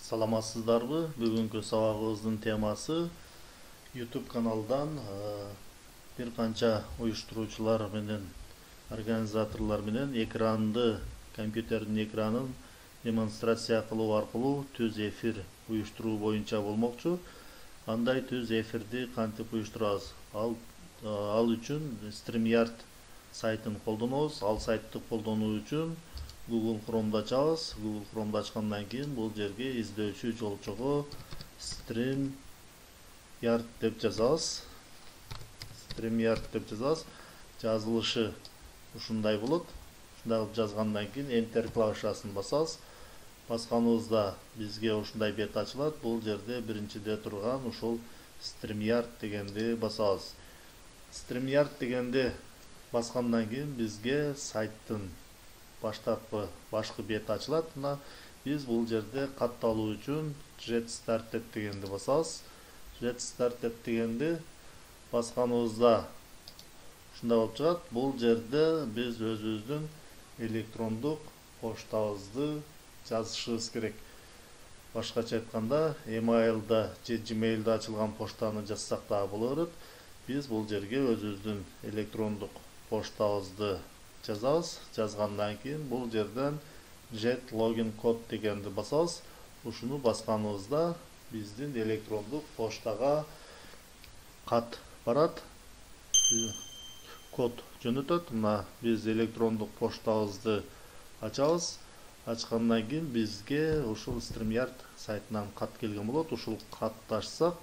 Саламатсыздарбы? Бүгүнкү сабагыбыздын темасы YouTube каналдан бир канча уюштуруучулар менен организаторлор менен компьютердин экранын демонстрация кылуу аркылуу түз эфир уюштуруу боюнча болмокчу. Андай түз эфирди кантип уюштурабыз? Ал үчүн StreamYard сайтын колдонобуз. Ал сайтты колдонуу үчүн Google Chrome'да ачабыз. Google Chrome'да ачкандан кийин бул жерге издөөчү жолчого StreamYard деп жазабыз. StreamYard деп жазабыз. Жазылышы ушундай болот. Ушундай кылып жазгандан кийин Enter клавишасын басабыз. Басканыбызда бизге ушундай бет ачылат. Бул жерде биринчиде турган ушул StreamYard дегенди басабыз. StreamYard дегенди баскандан кийин бизге сайттын башкы бет ачылат. Биз бул жерде катталуу үчүн Get Started дегенди басабыз. Get Started дегенди басканыбызда ушундай болуп чыгат. Бул жерде биз өзүбүздүн электрондук поштабызды жазышыбыз керек. Башкача айтканда, email'да же Gmail'да ачылган поштаны жазсак да боло берет. Биз бул жерге өзүбүздүн электрондук поштабызды жазабыз. Жазгандан кийин бул жерден Get Login Code дегенди басабыз. Ушуну басканыбызда биздин электрондук поштага кат барат. Код жөнөтөт. Биз электрондук поштабызды ачабыз. Ачкандан кийин бизге ушул StreamYard сайтынан кат келген болот. Ушул катты ачсак,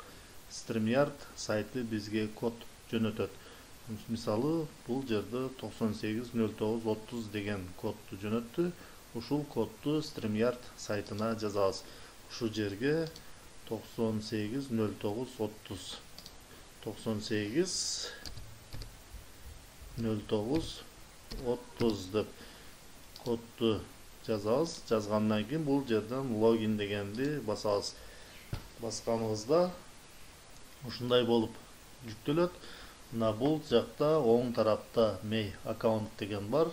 StreamYard сайты бизге код жөнөтөт. Мисалы, бул жерде 980930 деген кодду жөнөттү. Ушул кодду StreamYard сайтына жазабыз. Ушул жерге 980930 деп кодду жазабыз. Жазгандан кийин бул жерден login дегенди басабыз. Басканыбызда ушундай болуп жүктөлөт. Бул жакта оң тарапта My Account деген бар.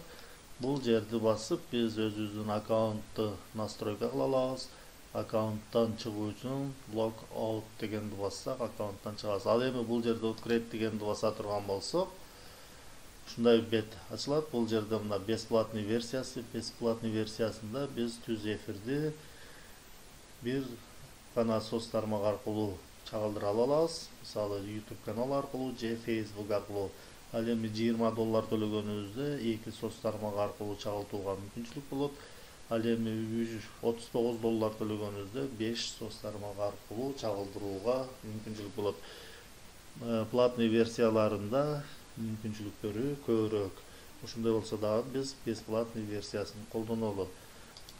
Бул жерди басып, биз өзүбүздүн аккаунтту настройка кыла алабыз. Аккаунттан чыгуу үчүн Log Out дегенди бассак, аккаунттан чыгабыз. Ал эми бул жерде Upgrade дегенди баса турган болсок, ушундай бет ачылат. Бул жерде бесплатный версиясы. Бесплатный версиясында биз түз эфирди бир гана соц тармак аркылуу чагылдыра алабыз. Мисалы, YouTube канал аркылуу же Facebook аркылуу. Ал эми $20 төлөгөнүбүздө 2 соц тармак аркылуу чагылтууга мүмкүнчүлүк болот. Ал эми $39 төлөгөнүбүздө 5 соц тармак аркылуу чагылдырууга мүмкүнчүлүк болот. Платный версияларында мүмкүнчүлүктөрү көбүрөөк. Ошондой болсо дагы биз бесплатный версиясын колдонолу.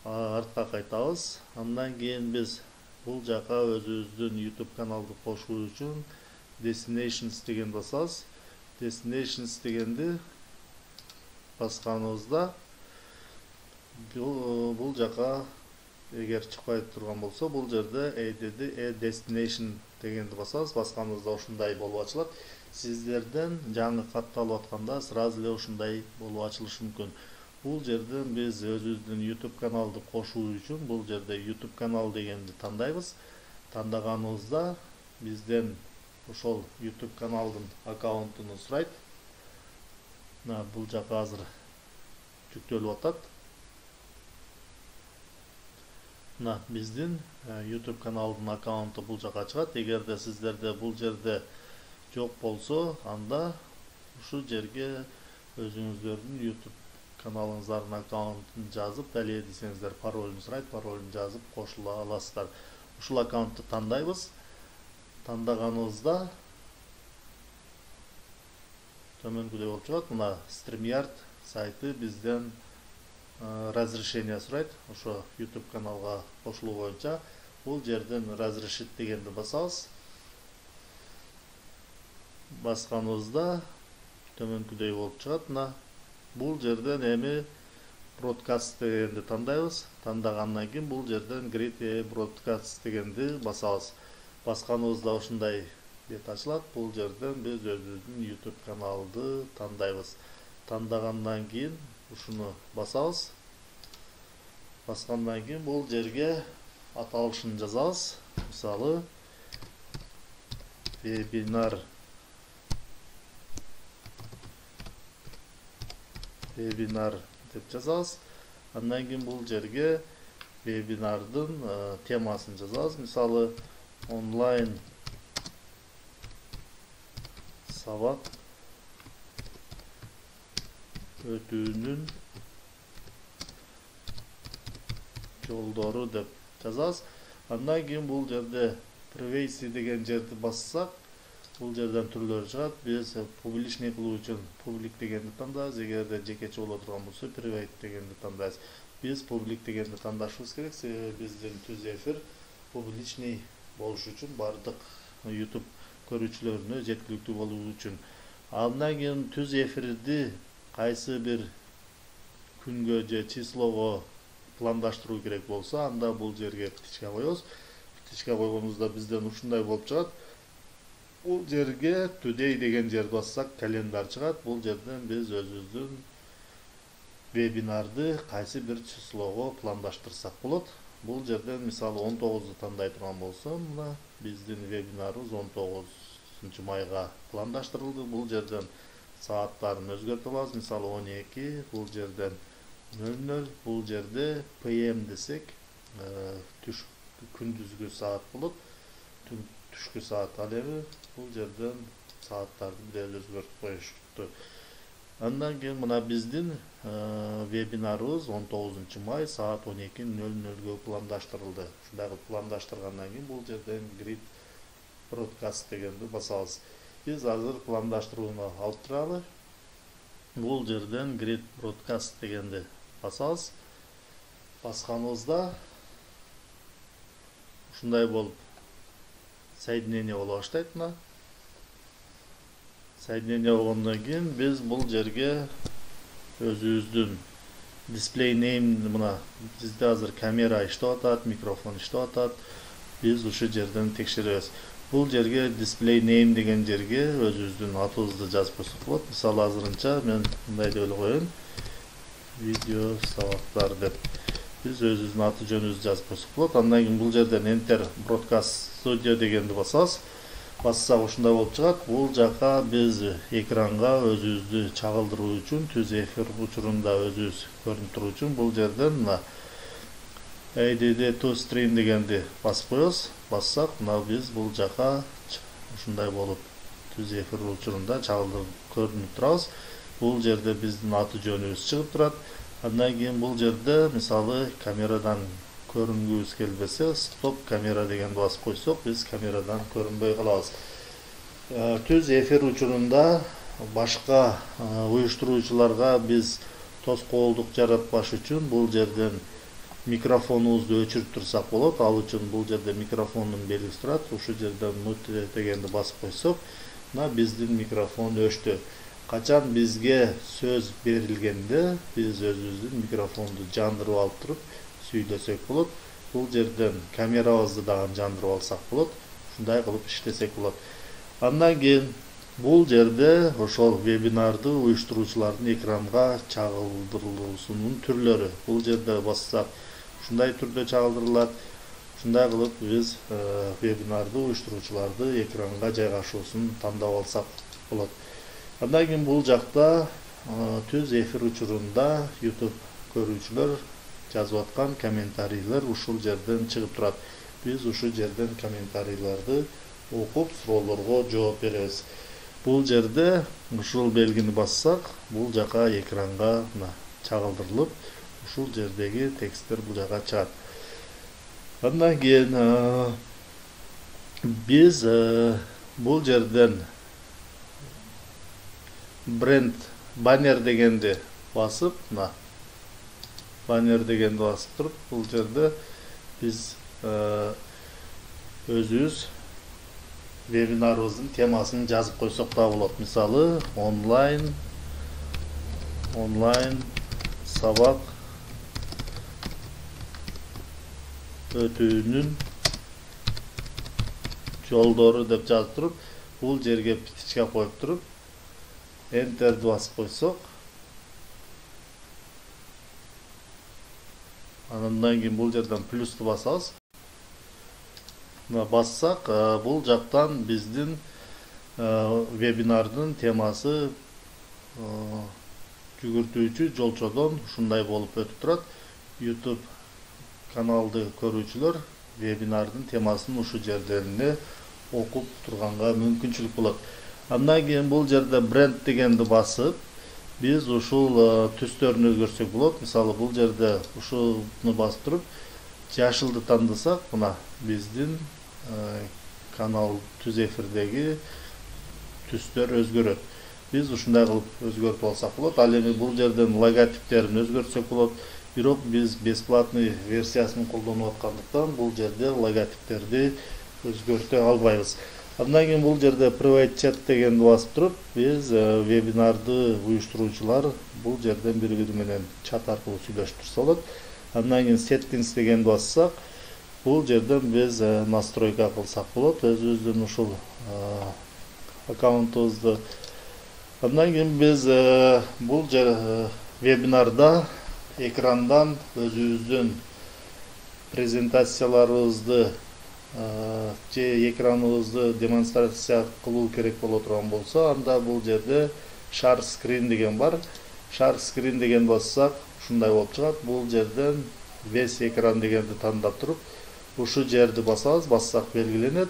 Артка кайтабыз. Андан кийин биз бул жака өзүбүздүн YouTube каналды кошуу үчүн Destinations деген басабыз. Destinations дегенди басканыбызда бул жака эгер чыкпай турган болсо, бул жерде Add Destination дегенди басабыз. Басканыбызда ушундай болуп ачылат. Сиздерден жаңы катталып атканда сразу эле ушундай болуп ачылышы мүмкүн. Бул жерден биз өзүбүздүн YouTube каналды кошуу үчүн бул жерде YouTube канал дегенди тандайбыз. Тандаганыбызда бизден ошол YouTube каналдын аккаунтун сурайт. Бул жака азыр жүктөлүп атат. Биздин YouTube каналдын аккаунту бул жака чыгат. Эгерде сиздерде бул жерде жок болсо, анда ушул жерге өзүңүздөрдүн YouTube каналыңыздардын аккаунтун жазып, далее десеңиздер паролун сурайт, паролун жазып кошула аласыздар. Ушул аккаунтту тандайбыз. Тандаганыбызда төмөнкүдөй болуп чыгат. StreamYard сайты бизден разрешение сурайт. Ошо YouTube каналга кошулуу боюнча бул жерден разрешить дегенди басабыз. Басканыбызда төмөнкүдөй болуп чыгат. Бул жерден эми Broadcast дегенди тандайбыз. Тандагандан кийин бул жерден Create Broadcast дегенди басабыз. Басканыбызда ушундай бет ачылат. Бул жерден биз өзүбүздүн YouTube каналды тандайбыз. Тандагандан кийин ушуну басабыз. Баскандан кийин бул жерге аталышын жазабыз. Мисалы вебинар деп жазабыз. Андан кийин бул жерге вебинардын темасын жазабыз. Мисалы онлайн сабак өтүүнүн жолдору деп жазабыз. Андан кийин бул жерде privacy деген жерди бассак, бул жерден түрлөрү чыгат. Биз публичный кылуу үчүн public дегенди тандайбыз. Эгерде жекече боло турган болсо private дегенди тандайбыз. Биз public дегенди тандашыбыз керек, себеби биздин түз эфир публичный болуш үчүн, бардык YouTube көрүүчүлөрүнө жеткиликтүү болуу үчүн. Андан кийин түз эфирди кайсы бир күнгө же числого пландаштыруу керек болсо, анда бул жерге птичка коебуз. Птичка койгонубузда бизден ушундай болуп чыгат. Бул жерге today деген жерди бассак, календар чыгат. Бул жерден биз өзүбүздүн вебинарды кайсы бир числого пландаштырсак болот. Бул жерден мисалы 19-ду тандай турган болсо, мына биздин вебинарыбыз 19 майга пландаштырылды. Бул жерден сааттарын өзгөртө алабыз. Мисалы 12, бул жерден 00, бул жерде PM десек, күндүзгү саат болот. Түшкү саат. Ал эми бул жерден сааттарды бир өзгөртүп коюшту. Андан кийин мына биздин вебинарыбыз 19 май саат 12:00 пландаштырылды. Ушундай кылып пландаштыргандан кийин бул жерден grid broadcast дегенди басабыз. Биз азыр пландаштырууну алып туралы. Бул жерден grid broadcast дегенди басабыз. Басканыбызда ушундай болуп соединение боло баштайт. Мына соединение болгондон кийин биз бул жерге өзүбүздүн display name, мына бизде азыр камера иштеп атат, микрофон иштеп атат. Биз ушу жерден текшеребиз. Бул жерге display name деген жерге өзүбүздүн атыбызды жазып койсок болот. Мисалы азырынча мен мындай деп эле коеюн. Видео сабактар деп биз өзүбүздүн аты жөнүбүздү жазып койсок болот. Андан кийин бул жерден enter broadcast studio дегенди басабыз. Бассак ушундай болуп чыгат. Бул жака биз экранга өзүбүздү чагылдыруу үчүн, түз эфир учурунда өзүбүз көрүнүп туруу үчүн бул жерден мына add to stream дегенди басып коебуз. Бассак, мына биз бул жака ушундай болуп түз эфир учурунда чагылдырып көрүнүп турабыз. Бул жерде биздин аты жөнүбүз чыгып турат. Андан кийин бул жерде мисалы камерадан көрүнгүбүз келбесе, стоп камера дегенди басып койсок, биз камерадан көрүнбөй калабыз. Түз эфир учурунда башка уюштуруучуларга биз тоскоолдук жаратпаш үчүн бул жерден микрофонубузду өчүрүп турсак болот. Ал үчүн бул жерде микрофондун белгиси турат. Ушу жерден mute дегенди басып койсок, мына биздин микрофон өчтү. Качан бизге сөз берилгенде биз өзүбүздүн микрофонду жандырып алып туруп сүйлөсөк болот. Бул жерден камерабызды дагы жандырып алсак болот. Ушундай кылып иштесек болот. Андан кийин бул жерде ошол вебинарды уюштуруучулардын экранга чагылдырылуусунун түрлөрү. Бул жерде бассак ушундай түрдө чагылдырылат. Ушундай кылып биз вебинарды уюштуруучуларды экранга жайгашуусун тандап алсак болот. Андан кийин бул жакта түз эфир учурунда YouTube көрүүчүлөр жазып аткан комментарийлер ушул жерден чыгып турат. Биз ушу жерден комментарийлерди окуп, суроолорго жооп беребиз. Бул жерде ушул белгини бассак, бул жака экранга чагылдырылып, ушул жердеги тексттер бул жака чыгат. Андан кийин биз бул жерден бренд баннер дегенди басып, баннер дегенди басып туруп, бул жерде биз өзүбүз вебинарыбыздын темасын жазып койсок да болот. Мисалы онлайн сабак өтүүнүн жолдору деп жазып туруп, бул жерге птичка коюп туруп, enterди басып койсок, андан кийин бул жерден плюсту басабыз. бассак, бул жактан биздин вебинардын темасы жүгүртүүчү жолчодон ушундай болуп өтүп турат. YouTube каналды көрүүчүлөр вебинардын темасын ушу жерден окуп турганга мүмкүнчүлүк болот. Андан кийин бул жерде бренд дегенди басып, биз ушул түстөрүн өзгөртсөк болот. Мисалы, бул жерде ушуну басып туруп, жашылды тандасак, мына биздин канал түз эфирдеги түстөр өзгөрөт. Биз ушундай кылып өзгөртүп алсак болот. Ал эми бул жерден логотиптерин өзгөртсөк болот. Бирок биз бесплатный версиясын колдонуп аткандыктан бул жерде логотиптерди өзгөртө албайбыз. Андан кийин бул жерде private chat дегенди басып туруп, биз вебинарды уюштуруучулар бул жерден бири-бири менен чат аркылуу сүйлөшүп турса болот. Андан кийин settings дегенди бассак, бул жерден биз настройка кылсак болот, өзүбүздүн ушул аккаунтубузду. Андан кийин биз бул вебинарда экрандан өзүбүздүн презентацияларыбызды же экраныбызды демонстрация кылуу керек боло турган болсо, анда бул жерде share screen деген бар. Share screen деген бассак, ушундай болуп чыгат. Бул жерден весь экран дегенди тандап туруп, ушу жерди басабыз, бассак белгиленет.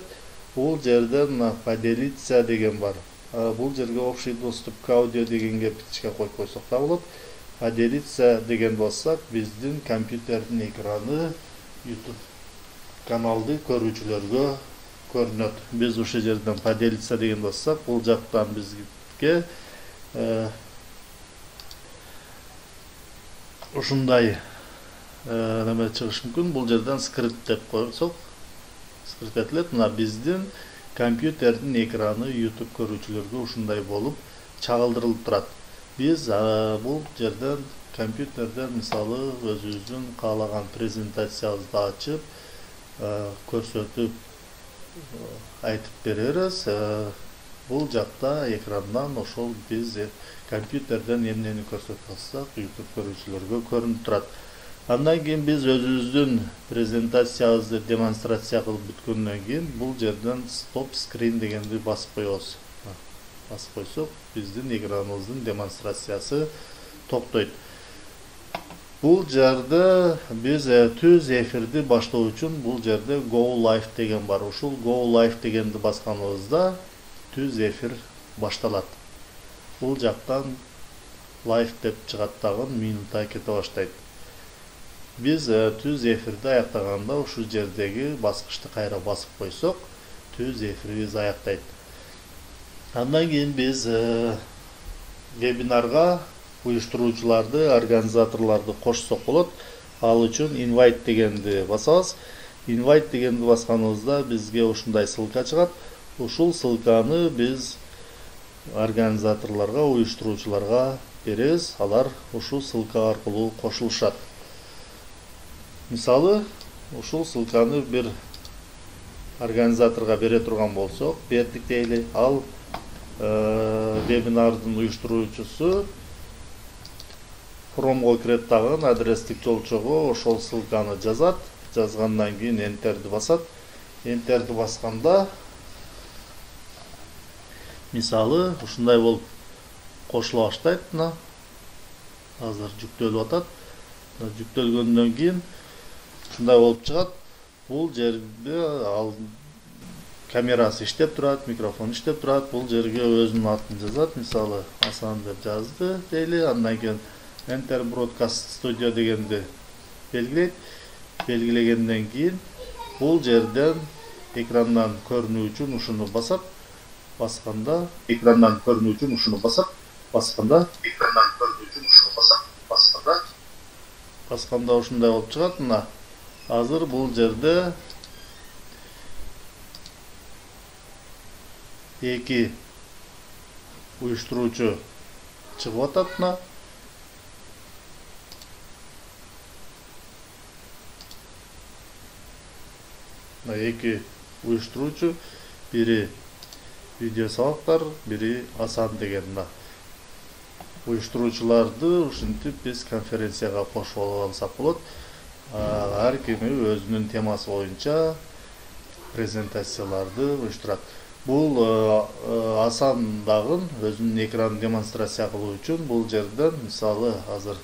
Бул жерден поделиться деген бар. Бул жерге общий доступ к аудио дегенге бичке коюп койсок да болот. Поделиться деген бассак, биздин компьютердин экраны YouTube каналды көрүүчүлөргө көрүнөт. Биз ушул жерден поделиться деген бассак, бул жактан бизге ушундай неме чыгышы мүмкүн. Бул жерден скрипт деп койсок, скрипт этилет. Мына биздин компьютердин экраны YouTube көрүүчүлөргө ушундай болуп чагылдырылып турат. Биз бул жерден компьютерден мисалы өзүбүздүн каалаган презентациябызды ачып, көрсөтүп айтып беребиз. Бул жакта экрандан ошол биз компьютерден эмнени көрсөтүп алсак, YouTube көрүүчүлөргө көрүнүп турат. Андан кийин биз өзүбүздүн презентациябызды демонстрация кылып бүткөндөн кийин бул жерден stop screen дегенди басып коебуз. Басып койсок, биздин экраныбыздын демонстрациясы токтойт. Бул жерде биз түз эфирди баштоо үчүн бул жерде go live деген бар. Ушул go live дегенди басканыбызда түз эфир башталат. Бул жактан live деп чыгат, дагы минута кете баштайт. Биз түз эфирди аяктаганда ушул жердеги баскычты кайра басып койсок, түз эфирибиз аяктайт. Андан кийин биз вебинарга уюштуруучуларды, организаторлорду кошсок болот. Ал үчүн invite дегенди басабыз. Invite дегенди басканыбызда бизге ушундай ссылка чыгат. Ушул ссылканы биз организаторлорго, уюштуруучуларга беребиз. Алар ушул ссылка аркылуу кошулушат. Мисалы, ушул ссылканы бир организаторго бере турган болсок, бердик дейли. Ал вебинардын уюштуруучусу Chrome'го кирет, дагы адрестик жолчого ошол ссылканы жазат. Жазгандан кийин Enter'ди басат. Enter'ди басканда мисалы ушундай болуп кошула баштайт. Мына азыр жүктөлүп атат. Жүктөлгөндөн кийин ушундай болуп чыгат. Бул жерде ал камерасы иштеп турат, микрофон иштеп турат. Бул жерге өзүнүн атын жазат. Мисалы Асан деп жазды дейли. Андан кийин Enter Broadcast Studio дегенди белгилейт. Белгилегенден кийин бул жерден экрандан көрүнүү үчүн ушуну басат. Басканда экрандан көрүнүү үчүн ушуну басат. Басканда экрандан көрүнүү үчүн ушуну басат. Басканда ушундай болуп чыгат. Мына азыр бул жерде эки уюштуруучу чыгып атат. Мына эки уюштуруучу, бири видео сабактар, бири Асан деген. Уюштуруучуларды ушинтип биз конференцияга кошуп алсак болот. Ар кими өзүнүн темасы боюнча презентацияларды уюштурат. Бул асан дагы өзүнүн экранын демонстрация кылуу үчүн бул жерден мисалы азыр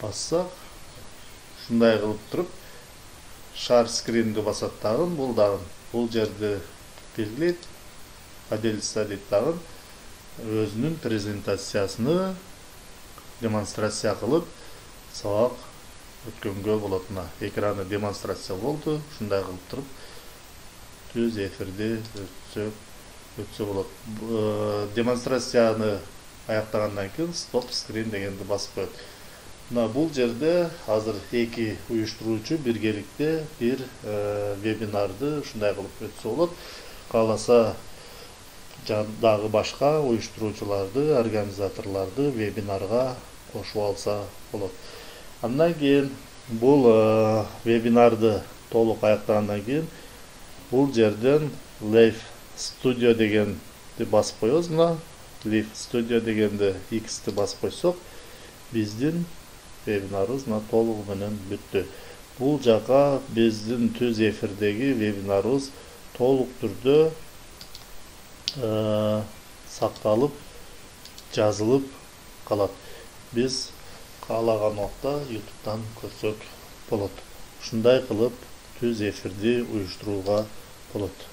бассак ушундай кылып туруп шар скринди басат дагы бул жерди белгилейт. Поделиться дейт дагы өзүнүн презентациясыны демонстрация кылып сабак өткөнгө болот. Мына экраны демонстрация болду. Ушундай кылып туруп түз эфирди өтсө болот. Демонстрацияны аяктагандан кийин стоп скрин дегенди басып коет. Мына бул жерде азыр эки уюштуруучу биргеликте бир вебинарды ушундай кылып өтсө болот. Кааласа дагы башка уюштуруучуларды, организаторлорду вебинарга кошуп алса болот. Андан кийин бул вебинарды толук аяктагандан кийин бул жерден Live Studio дегенди басып коебуз. Мына Live Studio дегенди X'ти басып койсок, биздин вебинарыбыз толугу менен бүттү. Бул жака биздин түз эфирдеги вебинарыбыз толук түрдө сакталып, жазылып калат. Биз каалаган убакта YouTube'дан көрсөк болот. Ушундай кылып түз эфирди уюштурууга болот.